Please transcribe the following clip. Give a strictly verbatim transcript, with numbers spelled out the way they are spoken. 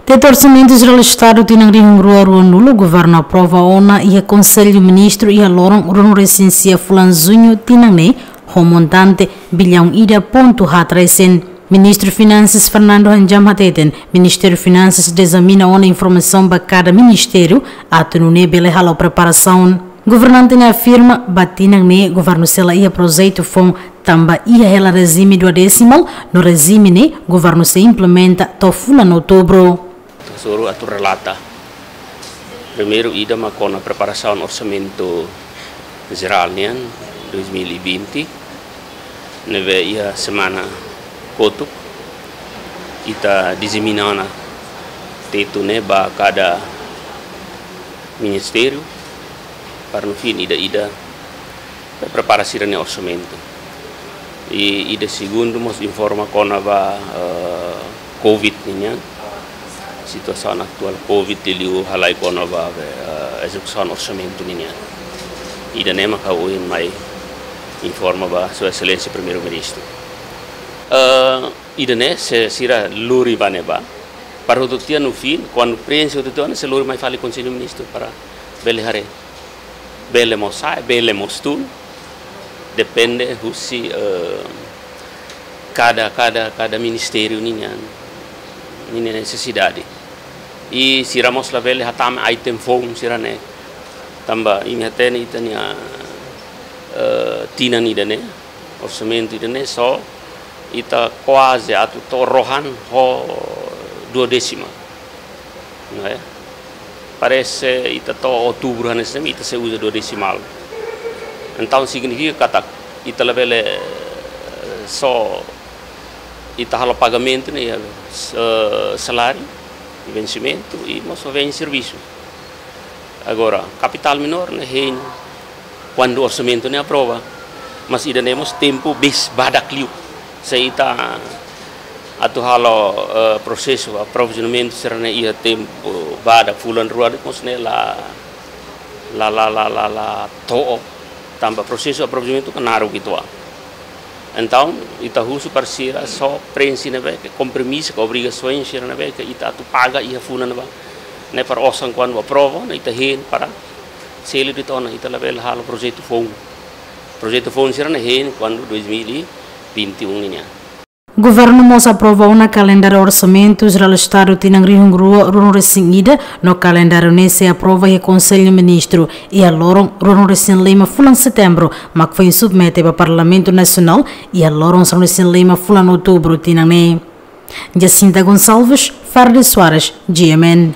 Tetu Orsamentu Jerál Estadu tinan rihun rua ruanulu, Governu aprova ona iha Konsellu Ministru iha loron ruanulu-resin-sia fulan Juñu tinan ne'e, ho montante billaun ida pontu haat resin. Ministru Finansas Fernando Hanjam hateten, Ministériu Finansas dezamina ona informasaun ba kada ministériu, atu nune'e bele halo preparasaun. Governante ne'e afirma, ba tinan ne'e Governu sei la iha projetu foun, tanba iha hela rejime duodesimal, no rejime ne'e Governu sei implementa to'o fulan Outubru. Suru atu relata. Primeiru ida mak kona preparasaun Orsamentu Jerál nian dois mil e vinte, ne'ebé iha semana kotuk ita dezamina ona tetu ne'e ba kada ministériu, para no fim ida-ida prepara sira-nia orsamentu. I ida segundu mós informa kona-ba, eh, covid nian. Situasaun atuál covid liuliu halai kona-ba, eh, ezekusaun orsamentu nian. Ida-ne'e mak ha'u ohin mai informa ba Sua Exelénsia Primeiru-Ministru. Eh, ida-ne'e se sira lori ba ne'ebá. Para hotu tiha no fim, kuandu prenxe hotu tiha ona, sei lori mai fali Konsellu Ministru para bele haree. Bele mós sa'e, bele mós tun. Depende husi, eh, kada, kada, kada ministériu nian, nian nesesidade. I sira mós labele hatama item foun sira-ne'e. Tanba imi hatene ita-nia, eh, tinan ida-ne'e, orsamentu ida-ne'e só ita kuaze atu to'o rohan ho duodesimal. Não é? Parese ita to'o Outubru hanesan ne'e ita sei uza duodesimal. Entaun signifika katak ita labele, eh, só ita halo pagamentu ne'e, eh, saláriu, vensimentu i mós bens servisu. Agora, kapitál menór ne'e hein kuandu orsamentu ne'e aprova. Mas ida-ne'e mós tempu bes badak liu. Se ita atu halo, eh, prosesu aprovizionamentu sira-ne'e iha tempu badak fulan rua de'it mós ne'e la, la, la, la, la, la to'o. Tanba prosesu aprovizionamentu kan naruk uitoan. Entaun, ita husu para sira só prenxe ne'ebé ke kompromisu ka obrigasaun sira ne'ebé ke ita atu paga iha fulan ne'ebá. Ne'e para osan kuandu aprova, ne'e ita hein para selu de'it ona, ita labele halo projetu foun. Projetu foun sira-ne'e hein kuandu dois mil e vinte e um nian. Governu mós aprova ona kalendáriu Orsamentu Jerál Estadu tinan rihun rua ruanulu-resin-ida, no kalendáriu ne'e sei aprova iha Konsellu Ministru iha loron ruanulu-resin-lima fulan Setembru, mak foin submete ba Parlamentu Nasionál iha loron sanulu-resin-lima fulan Outubru tinan ne'e. Jacinta Gonçalves, Fardi Soares, G M N.